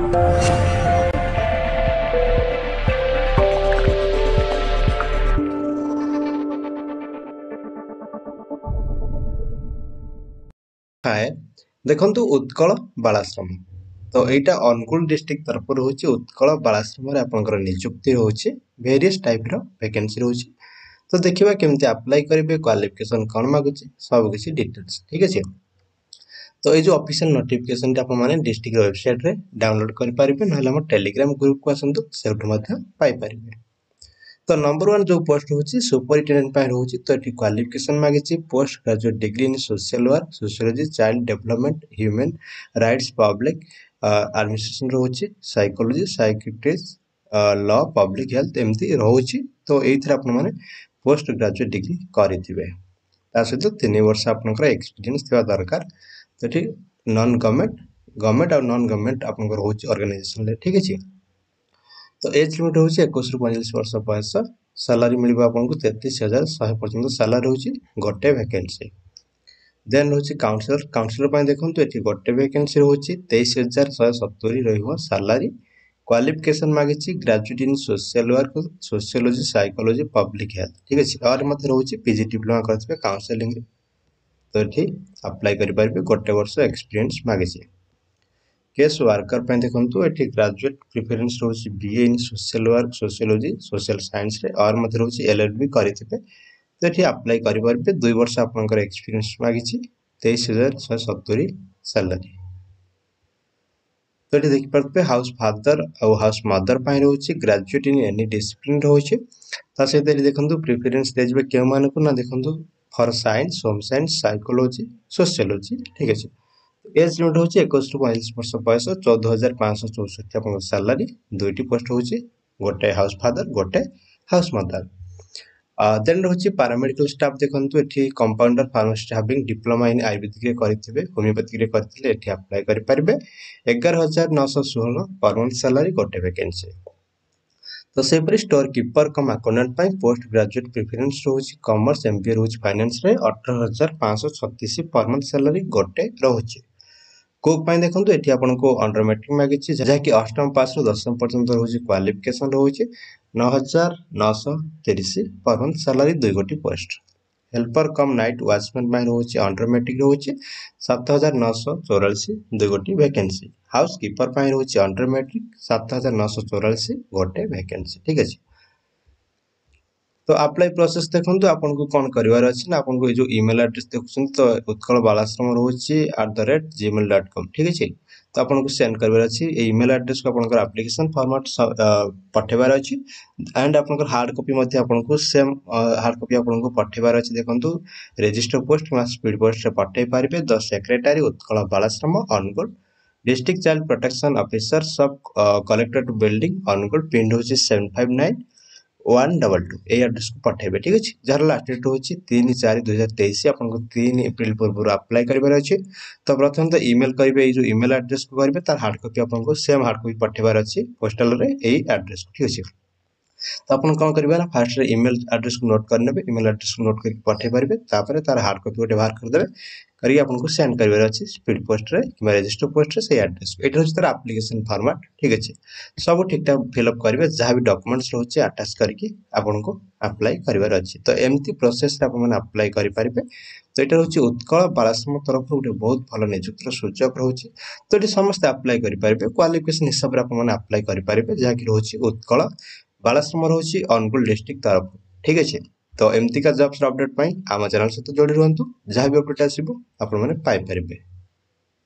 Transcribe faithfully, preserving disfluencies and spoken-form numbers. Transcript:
ହାଏ ଦେଖନ୍ତୁ ଉତ୍କଳ ବାଳାଶ୍ରମ ତ ଏଇଟା ଅନୁଗୁଳ ଡିଷ୍ଟ୍ରିକ୍ଟ ତରଫରୁ ରହୁଛି ଉତ୍କଳ ବାଳାଶ୍ରମରେ ଆପଣଙ୍କର ନିଯୁକ୍ତି ରହୁଛି ଭେରିୟସ୍ ଟାଇପ୍ର ଭ୍ୟାକେନ୍ସି ରହୁଛି ତ ଦେଖିବା କେମିତି ଆପ୍ଲାଏ କରିବେ କ୍ୱାଲିଫିକେସନ୍ କ'ଣ ମାଗୁଛି ସବୁକିଛି ଡିଟେଲ୍ସ ଠିକ୍ ଅଛି ତ ଏଇ ଯେଉଁ ଅଫିସିଆଲ ନୋଟିଫିକେସନଟି ଆପଣମାନେ ଡିଷ୍ଟ୍ରିକ୍ଟ ୱେବସାଇଟ୍ରେ ଡାଉନଲୋଡ୍ କରିପାରିବେ ନହେଲେ ଆମ ଟେଲିଗ୍ରାମ ଗ୍ରୁପକୁ ଆସନ୍ତୁ ସେଇଠୁ ମଧ୍ୟ ପାଇପାରିବେ ତ ନମ୍ବର ୱାନ୍ ଯେଉଁ ପୋଷ୍ଟ ରହୁଛି ସୁପରିଟେଣ୍ଡେଣ୍ଟ ପାଇଁ ରହୁଛି ତ ଏଠି କ୍ୱାଲିଫିକେସନ୍ ମାଗିଛି post graduate degree in social work sociology child development human rights public administration ରହୁଛି ସାଇକୋଲୋଜି ସାଇକିଟ୍ରିଷ୍ଟ ଲ ପବ୍ଲିକ୍ ହେଲ୍ଥ ଏମିତି ରହୁଛି ତ ଏଇଥିରେ ଆପଣମାନେ ପୋଷ୍ଟ ଗ୍ରାଜୁଏଟ୍ ଡିଗ୍ରୀ କରିଥିବେ ତା ସହିତ ତିନି ବର୍ଷ ଆପଣଙ୍କର ଏକ୍ସପିରିଏନ୍ସ ଥିବା ଦରକାର ତ ଏଠି ନନ୍ ଗଭର୍ଣ୍ଣମେଣ୍ଟ ଗଭର୍ଣ୍ଣମେଣ୍ଟ ଆଉ ନନ୍ ଗଭର୍ଣ୍ଣମେଣ୍ଟ ଆପଣଙ୍କର ରହୁଛି ଅର୍ଗାନାଇଜେସନରେ ଠିକ୍ ଅଛି ତ ଏଜ୍ ଲିମିଟ୍ ରହୁଛି ଏକୋଇଶରୁ ପଇଁଚାଳିଶ ବର୍ଷ ବୟସ ସାଲାରୀ ମିଳିବ ଆପଣଙ୍କୁ ତେତିଶ ହଜାର ଶହେ ପର୍ଯ୍ୟନ୍ତ ସାଲାରୀ ରହୁଛି ଗୋଟେ ଭ୍ୟାକେନ୍ସି ଦେନ୍ ରହୁଛି କାଉନସିଲର କାଉନସିଲର ପାଇଁ ଦେଖନ୍ତୁ ଏଠି ଗୋଟେ ଭ୍ୟାକେନ୍ସି ରହୁଛି ତେଇଶ ହଜାର ଶହେ ସତୁରି ରହିବ ସାଲାରୀ କ୍ୱାଲିଫିକେସନ୍ ମାଗିଛି graduate in social work sociology psychology public health ଠିକ୍ ଅଛି ଆହୁରି ମଧ୍ୟ ରହୁଛି ପି ଜି ଡିପ୍ଲୋମା କରିଥିବେ କାଉନସେଲିଂରେ ତ ଏଠି ଆପ୍ଲାଏ କରିପାରିବେ ଗୋଟେ ବର୍ଷ ଏକ୍ସପିରିଏନ୍ସ ମାଗିଛି କେସ୍ ୱାର୍କର ପାଇଁ ଦେଖନ୍ତୁ ଏଠି ଗ୍ରାଜୁଏଟ୍ ପ୍ରିଫରେନ୍ସ ରହୁଛି B A in social work sociology social ସାଇନ୍ସରେ ଅର୍ ମଧ୍ୟ ରହୁଛି ଏଲ୍ ଏଲ୍ ବି କରିଥିବେ ତ ଏଠି ଆପ୍ଲାଏ କରିପାରିବେ ଦୁଇ ବର୍ଷ ଆପଣଙ୍କର ଏକ୍ସପିରିଏନ୍ସ ମାଗିଛି ତେଇଶ ହଜାର ଶହେ ସତୁରି ସାଲାରୀ ତ ଏଠି ଦେଖିପାରୁଥିବେ ହାଉସ୍ ଫାଦର ଆଉ ହାଉସ୍ ମଦର ପାଇଁ ରହୁଛି ଗ୍ରାଜୁଏଟ୍ ଇନ୍ ଏନି ଡିସିପ୍ଲିନ୍ ରହୁଛି ତା ସହିତ ଏଠି ଦେଖନ୍ତୁ ପ୍ରିଫରେନ୍ସ ଦିଆଯିବ କେଉଁମାନଙ୍କୁ ନା ଦେଖନ୍ତୁ for science home science psychology sociology ଠିକ୍ ଅଛି ଏଜ୍ ଲିମିଟ୍ ହେଉଛି ଏକୋଇଶରୁ ପଇଁଚାଳିଶ ବର୍ଷ ବୟସ ଚଉଦ ହଜାର ପାଞ୍ଚଶହ ଚଉଷଠି ଆପଣଙ୍କ ସାଲାରୀ ଦୁଇଟି ପୋଷ୍ଟ ରହୁଛି ଗୋଟେ ହାଉସ୍ ଫାଦର ଗୋଟେ ହାଉସ୍ ମଦର ଦେନ୍ ରହୁଛି ପାରାମେଡ଼ିକାଲ ଷ୍ଟାଫ୍ ଦେଖନ୍ତୁ ଏଠି compounder pharmacist having diploma in ଆୟୁର୍ବେଦିକରେ କରିଥିବେ ହୋମିଓପାଥିକରେ କରିଥିଲେ ଏଠି ଆପ୍ଲାଏ କରିପାରିବେ ଏଗାର ହଜାର ନଅଶହ ଷୋହଳ ପର ମନ୍ଥ ସାଲାରୀ ଗୋଟେ ଭ୍ୟାକେନ୍ସି ତ ସେହିପରି ଷ୍ଟୋର କିପର କମ୍ ଆକାଉଣ୍ଟାଣ୍ଟ ପାଇଁ ପୋଷ୍ଟ ଗ୍ରାଜୁଏଟ୍ ପ୍ରିଫରେନ୍ସ ରହୁଛି କମର୍ସ ଏମ୍ ବି ଏ ରହୁଛି ଫାଇନାନ୍ସରେ ଅଠର ହଜାର ପାଞ୍ଚଶହ ଛତିଶ ପର ମନ୍ଥ ସାଲାରୀ ଗୋଟେ ରହୁଛି କୁକ୍ ପାଇଁ ଦେଖନ୍ତୁ ଏଠି ଆପଣଙ୍କୁ ଅଣ୍ଡର ମେଟ୍ରିକ୍ ମାଗିଛି ଯାହାକି ଅଷ୍ଟମ ପାସ୍ରୁ ଦଶମ ପର୍ଯ୍ୟନ୍ତ ରହୁଛି କ୍ୱାଲିଫିକେସନ୍ ରହୁଛି ନଅ ହଜାର ନଅଶହ ତିରିଶ ପର ମନ୍ଥ ସାଲାରୀ ଦୁଇ ଗୋଟି ପୋଷ୍ଟ ହେଲ୍ପର କମ୍ ନାଇଟ୍ ୱାଚମ୍ୟାନ୍ ପାଇଁ ରହୁଛି ଅଣ୍ଡର ମେଟ୍ରିକ୍ ରହୁଛି ସାତ ହଜାର ନଅଶହ ଚଉରାଳିଶ ଦୁଇ ଗୋଟି ଭ୍ୟାକେନ୍ସି ହାଉସ୍ କିପର ପାଇଁ ରହୁଛି ଅଣ୍ଡର ମେଟ୍ରିକ୍ ସାତ ହଜାର ନଅଶହ ଚଉରାଳିଶ ଗୋଟେ ଭ୍ୟାକେନ୍ସି ଠିକ୍ ଅଛି ତ ଆପ୍ଲାଏ ପ୍ରୋସେସ୍ ଦେଖନ୍ତୁ ଆପଣଙ୍କୁ କ'ଣ କରିବାର ଅଛି ନା ଆପଣଙ୍କୁ ଏଇ ଯେଉଁ ଇମେଲ୍ ଆଡ୍ରେସ୍ ଦେଖୁଛନ୍ତି ତ ଉତ୍କଳ ବାଳାଶ୍ରମ ରହୁଛି at the rate gmail dot com ଠିକ୍ ଅଛି ତ ଆପଣଙ୍କୁ ସେଣ୍ଡ କରିବାର ଅଛି ଏଇ ଇମେଲ୍ ଆଡ୍ରେସ୍କୁ ଆପଣଙ୍କର ଆପ୍ଲିକେସନ୍ ଫର୍ମାଟ୍ ପଠାଇବାର ଅଛି ଆଣ୍ଡ ଆପଣଙ୍କର ହାର୍ଡ଼ କପି ମଧ୍ୟ ଆପଣଙ୍କୁ ସେମ୍ ହାର୍ଡ଼ କପି ଆପଣଙ୍କୁ ପଠାଇବାର ଅଛି ଦେଖନ୍ତୁ ରେଜିଷ୍ଟର ପୋଷ୍ଟ କିମ୍ବା ସ୍ପିଡ୍ ପୋଷ୍ଟରେ ପଠାଇ ପାରିବେ ଦ secretary Utkal Balashram Angul district child protection officer sub collectorate building Angul pin ହେଉଛି seven five nine one double two ଏଇ ଆଡ୍ରେସ୍କୁ ପଠାଇବେ ଠିକ୍ ଅଛି ଯାହାର ଲାଷ୍ଟ ଡେଟ୍ ରହୁଛି ତିନି ଚାରି ଦୁଇ ହଜାର ତେଇଶ ଆପଣଙ୍କୁ ତିନି ଏପ୍ରିଲ ପୂର୍ବରୁ ଆପ୍ଲାଏ କରିବାର ଅଛି ତ ପ୍ରଥମେ ତ ଇମେଲ୍ କରିବେ ଏଇ ଯେଉଁ ଇମେଲ୍ ଆଡ୍ରେସ୍କୁ କରିବେ ତାର ହାର୍ଡ଼ କପି ଆପଣଙ୍କୁ ସେମ୍ ହାର୍ଡ଼ କପି ପଠାଇବାର ଅଛି ପୋଷ୍ଟାଲରେ ଏଇ ଆଡ୍ରେସ୍କୁ ଠିକ୍ ଅଛି ତ ଆପଣ କ'ଣ କରିବେ ନା ଫାର୍ଷ୍ଟରେ ଇମେଲ୍ ଆଡ୍ରେସ୍କୁ ନୋଟ୍ କରିନେବେ ଇମେଲ୍ ଆଡ୍ରେସ୍କୁ ନୋଟ୍ କରିକି ପଠାଇ ପାରିବେ ତାପରେ ତାର ହାର୍ଡ଼ କପି ଗୋଟେ ବାହାର କରିଦେବେ କରିକି ଆପଣଙ୍କୁ ସେଣ୍ଡ କରିବାର ଅଛି ସ୍ପିଡ୍ ପୋଷ୍ଟରେ କିମ୍ବା ରେଜିଷ୍ଟର ପୋଷ୍ଟରେ ସେଇ ଆଡ୍ରେସ୍କୁ ଏଇଟା ହେଉଛି ତାର ଆପ୍ଲିକେସନ୍ ଫର୍ମାଟ୍ ଠିକ୍ ଅଛି ସବୁ ଠିକ୍ଠାକ୍ ଫିଲ୍ଅପ୍ କରିବେ ଯାହା ବି ଡକୁମେଣ୍ଟସ୍ ରହୁଛି ଆଟାଚ୍ କରିକି ଆପଣଙ୍କୁ ଆପ୍ଲାଏ କରିବାର ଅଛି ତ ଏମିତି ପ୍ରୋସେସ୍ରେ ଆପଣମାନେ ଆପ୍ଲାଏ କରିପାରିବେ ତ ଏଇଟା ରହୁଛି ଉତ୍କଳ ବାଳାଶ୍ରମ ତରଫରୁ ଗୋଟେ ବହୁତ ଭଲ ନିଯୁକ୍ତିର ସୁଯୋଗ ରହୁଛି ତ ଏଠି ସମସ୍ତେ ଆପ୍ଲାଏ କରିପାରିବେ କ୍ୱାଲିଫିକେସନ୍ ହିସାବରେ ଆପଣମାନେ ଆପ୍ଲାଏ କରିପାରିବେ ଯାହାକି ରହୁଛି ଉତ୍କଳ ବାଳାଶ୍ରମ ରହୁଛି ଅନୁଗୁଳ ଡିଷ୍ଟ୍ରିକ୍ଟ ତରଫରୁ ଠିକ୍ ଅଛି ତ ଏମିତିକା ଜବ୍ସର ଅପଡେଟ୍ ପାଇଁ ଆମ ଚ୍ୟାନେଲ୍ ସହିତ ଯୋଡ଼ି ରୁହନ୍ତୁ ଯାହା ବି ଅପଡେଟ୍ ଆସିବ ଆପଣମାନେ ପାଇପାରିବେ।